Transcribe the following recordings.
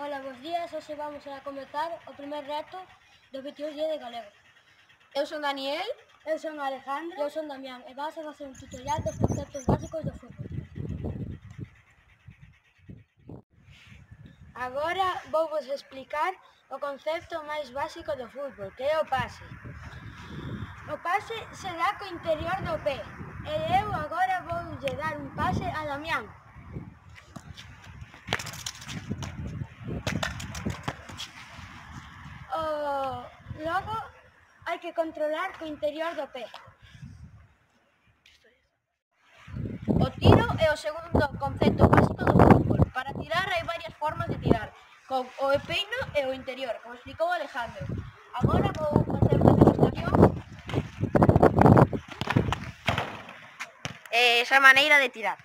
Ola, bos días. Hoxe vamos a comezar o primer reto do 22 día de galego. Eu son Daniel. Eu son Alejandro. Eu son Damián e vamos a facer un tutorial dos conceptos básicos do fútbol. Agora vou vos explicar o concepto máis básico do fútbol, que é o pase. O pase se dá co interior do pé e eu agora voulle dar un pase a Damián. Logo hai que controlar co interior do pé. O tiro é o segundo concepto básico do fútbol. Para tirar hai varias formas de tirar, con o peino e o interior, como explicou Alejandro. Agora vou facer unha demostración esa maneira de tirar.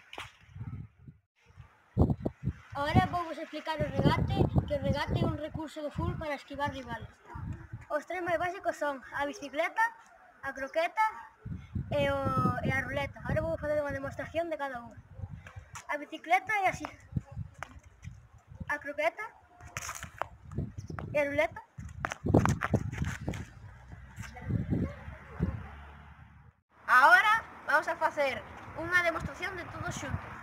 Agora vou vos explicar o regate, que o regate é un recurso do fútbol para esquivar rivales. Os tres máis básicos son a bicicleta, a croqueta e a ruleta. Agora vou facer unha demostración de cada unha. A bicicleta é así. A croqueta e a ruleta. Agora vamos a facer unha demostración de todos xuntos.